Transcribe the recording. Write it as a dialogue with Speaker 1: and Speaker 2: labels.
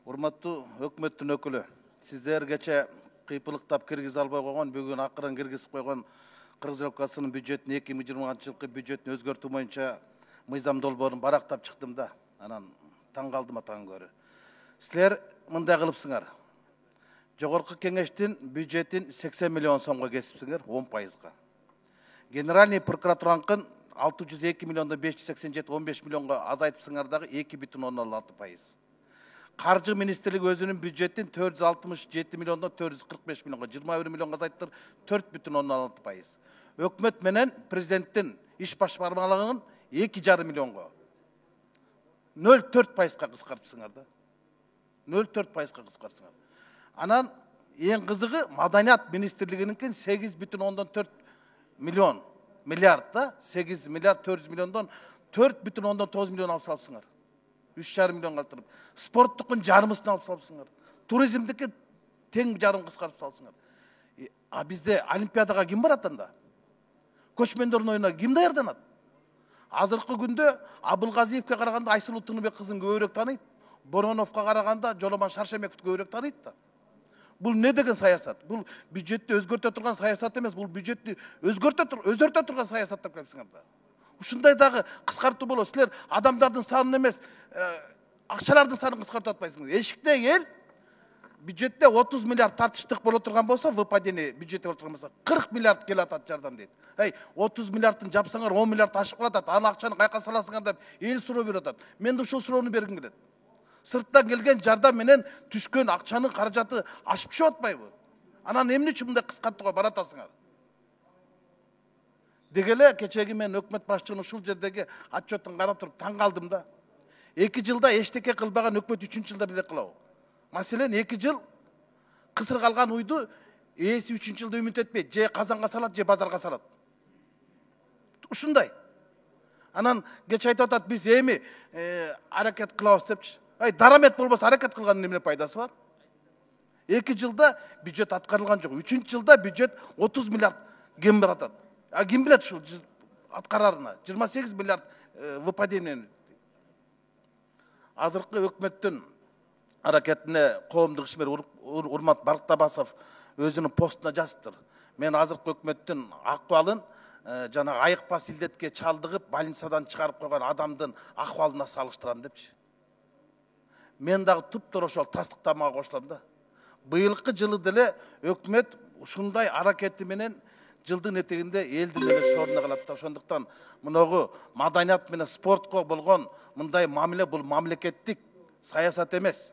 Speaker 1: Урматтуу өкмөттүн өкүлү, сиздер кече кыйпылыктап киргизе албай койгон, бүгүн акырын киргизип койгон Кыргыз Республикасынын бюджетин 2020 жылкы бюджетин өзгөртүү боюнча мыйзам долбоорун барактап чыктым да. Анан таң калдым атаң көрү. Силер мындай кылыпсыңар. Жогорку кеңештин бюджетин 80 миллион сомго кесипсиңер, 10%. Генеральный прокуратураныкын 602 миллиондон 587 15 миллионго азайтыпсыңар дагы 2,06%. Каржы министрлиги өзүнүн бюджетин 467 миллиондон 445 миллионго 21 миллионго азайттыр, 4,16%. Өкмөт менен президенттин иш башкармалыгын 2,5 миллионго 0,4%га кыскартыпсыңар да. 0,4%га кыскартсыңар. Анан эң кызыгы маданият министрлигинин 8,4 миллион миллиард да, 8 миллиард 400 миллиондон 4,9 миллион алып салыпсыңар. 3,5 миллион калтырып. Спорттукун жарымысын алып салыпсыңар. Туризмдики тең жарым кыскартып салыпсыңар. А бизде олимпиадага ким барат анда? Көчмөндөрдүн оюна ким даярданат? Азыркы күндө Абылгазиевке караганда Айсулуу Тыныбек кызын көбүрөөк тааныйт. Бороновго караганда Жоломон Шаршемековду көбүрөөк тааныйт да. Бул не деген саясат? Бул бюджетти өзгөртө турган саясат эмес, бул бюджетти өзгөртө турган саясат деп келипсиңер да. Ушундай дагы кыскартуу болот. Силер адамдардын санын эмес, акчалардын санын кыскартып атпайсыңар. Эшикте эл бюджетте 30 миллиард тартыштык боло турган болсо, выпадение бюджетте боло турган болсо 40 миллиард келип атат жардам дейт. 30 миллиардтын жапсаңар 10 миллиард ашып калат, аны акчаны кайка саласыңар деп эл суроо берип атат. Мен да ушул суроону бергим келет. Сырттан келген жардам менен түшкөн акчанын каражаты ашып түшүп атпайбы? Анан эмне үчүн мындай кыскартууга баратасыңар? Дегеле кечеги мен өкмөт башчынын ушул жердеги отчетун карап туруп таң калдым да. 2 жылда эчтеке кылбаган өкмөт 3-чү жылда бирдек кылабы? Маселен 2 жыл кысыр калган уйду ээси 3-чү жылда үмүт этпейт, же казанга салат, же базарга салат. Ушундай. Анан кече айтып атат, биз эми аракет кылабыз депчи. Дарамет болбосо аракет кылгандын эмне пайдасы бар? 2 жылда бюджет аткарылган жок. 3-чү жылда бюджет 30 миллиард кем баратат. Ким билет ушул аткарарына? 28 миллиард выпадение. Азыркы өкмөттүн аракетине коомдук ишмер Урмат Барктабасов өзүнүн постуна жазыптыр. Мен азыркы өкмөттүн акыбалын жана айыкпас илдетке чалдыгып, больницадан чыгарып койгон адамдын акыбалына салыштырам депчи. Мен дагы туптура ошол тастыктамага кошулам да. Быйылкы жылы деле өкмөт ушундай аракети менен жылдын этегинде элдин эле шооруна калат да. Ошондуктан мыногу маданият менен спортко болгон мындай мамиле бул мамлекеттик саясат эмес.